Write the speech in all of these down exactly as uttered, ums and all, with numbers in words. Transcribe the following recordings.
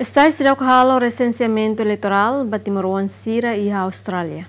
STAE seidauk halo resenseamentu eleitorál ba timoroan sira iha Austrália.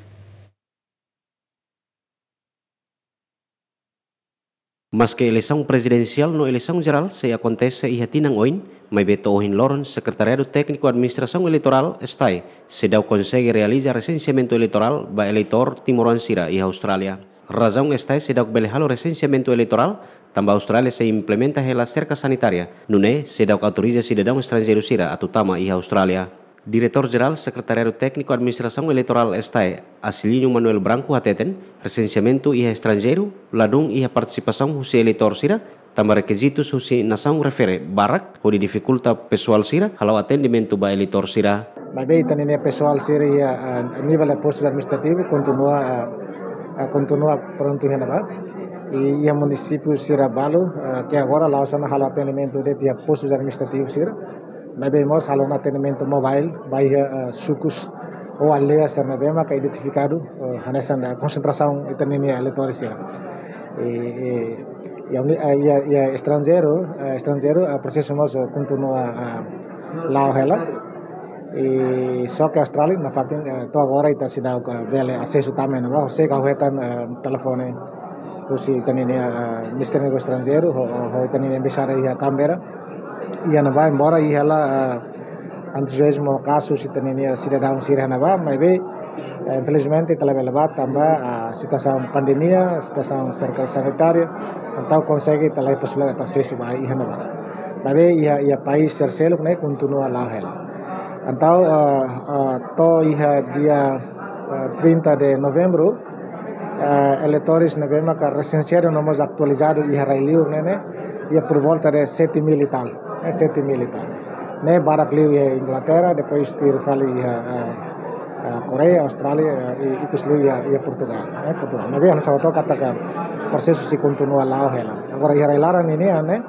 Maske eleisaun prezidensiál no eleisaun jerál sei akontese iha tinan oin, maibé to'o ohin loron Sekretariadu Tékniku Administrasaun Eleitorál, STAE, seidauk konsege realiza resenseamentu eleitorál ba eleitór timoroan sira iha Austrália. Razaun STAE seidauk bele halo resenseamentu eleitorál, tanba Austrália sei implementa hela serka sanitária, nune'e seidauk autoriza sidadaun estranjeiru sira atu tama iha Austrália. Diretór Jerál Sekretariadu Tékniku Administrasaun Eleitorál, STAE, Acilino Manuel Branco hateten, resenseamentu iha estranjeiru ladún iha partisipasaun husi eleitór sira, tanba rekizitus husi nasaun refere barak, hodi difikulta pesoál sira hala'o atendimentu ba eleitór sira. Maibé ita-nia pesoál sira iha, ah, nivel de postu administrativu kontinua, ah, ah, kontinua prontu iha ne'ebá. I iha munisípiu sira balu, ah, ke agora la'ós ona halo atendimentu de'it iha postu administrativu sira. Maibé mós halo ona atendimentu mobile ba iha, ah, sukus ou aldeia sira ne'ebé maka identifikadu, ah, hanesan, ah, konsentrasaun ita-nia eleitór sira. I, i, iha uni-, ah, iha, iha estranjeiru, ah, estranjeiru, ah, prosesu mós, ah, kontinua, ah, la'o hela. I só ke Austrália nafatin, eh, to'o agora ita seidauk bele asesu tama iha ne'ebá, se ka hetan, eh, telefone husi ita-nia, eh, Ministériu Negósius Estranjeirus, ho, ho, ho ita-nia embaixada iha Canberra. Iha ne'ebá, embora iha hela, eh, entuziazmu kazu ita-nia sidadaun sira iha ne'ebá, maibé, eh, infelizmente ita labele bá tanba, ah, situasaun pandemia, situasaun serka sanitária, entaun konsege ita la iha posibilidade atu asesu ba iha ne'ebá. Maibé iha, iha país terseiru ne'e kontinua la'o hela. Entaun, ah, ah, to'o iha dia, ah, trinta de novembro, ah, eleitór ne'ebé maka resenseadu no mós atualizadu iha rai-liur ne'e, ne'e, iha por volta de sete mil e tal, eh, sete mil e tal. Ne'e barak liu iha Inglaterra, depois tuir fali iha, ah, ah, Koreia, Austrália, ah, i, ikus liu iha, iha Portugal, eh, Portugal. Maibé hanesan ha'u hato'o katak prosesu sei kontinua la'o hela. Agora iha rai-laran ninian ne'e,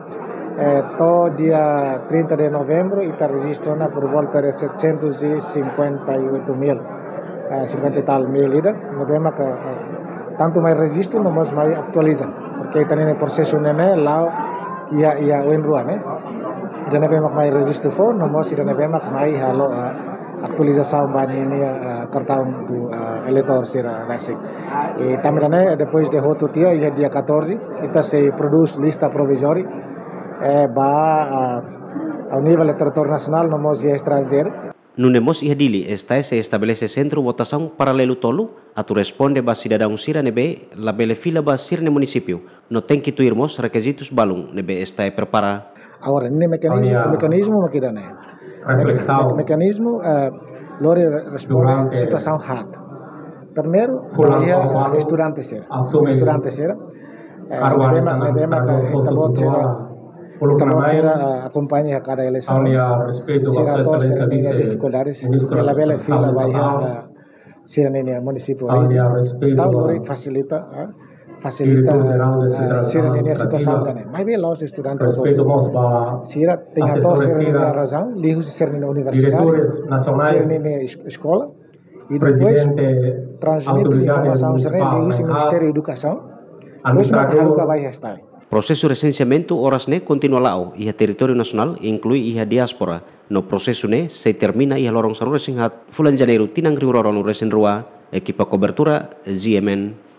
eh, to'o dia trinta de novembro, ita rejistu ona por volta de setecentos e cinquenta e oito mil, eh, cinquenta e tal mil ida, ne'ebé maka, eh, tantu mai rejistu, no mós mai atualiza. Porque ita-nia prosesu ne'e ne'e la'o iha, iha oin rua ne'e. Ida ne'ebé mak mai rejistu foun, no mós ida ne'ebé mak mai halo, eh, atualizasaun ba ninia, eh, kartaun do, eh, eleitór sira rasik. I tanba ne'e, depois de hotu tiha, iha dia catorze, ita sei prodús lista provizória, eh, ba, ah, a nivel territóriu nasionál, no mós iha estranjeiru. Nune'e mós iha Dili, STAE sei estabelese sentru votasaun paralelu tolu, atu responde ba sidadaun sira ne'ebé labele fila ba sira-nia munisípiu, no tenke tuir mós rekizitus balun ne'ebé STAE prepara. Agora, ne'e mekanizmu, mekanizmu mak ida-ne'e. Reflesaun. Me-, mekanizmu, eh, lori re-, responde situasaun haat. Primeiru, iha estudante sira. Estudante sira. Eh, ne'ebé mak, ne'ebé mak, eh, ita-boot sira, ita-boot sira, eh, akompaña kada eleisaun. Sira ho sira-nia difikuldades, labele fila ba iha, eh, sira-nia munisípiu orizin. Entaun, lori fasilita, eh, fasilita, eh, sira-nia situasaun ida-ne'e. Maibé la'ós estudante hotu-hotu. Sira tenke hato'o sira-nia razaun, liuhusi sira-nia universidade, sira-nia es-, eskola. I depois transmite informasaun sira-ne'e liuhusi Ministériu Edukasaun. Depois mak haruka ba iha STAE. Prosesu resenseamentu oras ne'e kontinua la'o iha territóriu nasionál, inklui iha diáspora. No prosesu ne'e sei termina iha loron sanulu-resin-haat fulan Janeiru tinan rihun rua ruanulu-resin-rua. Ekipa kobertura, GMN.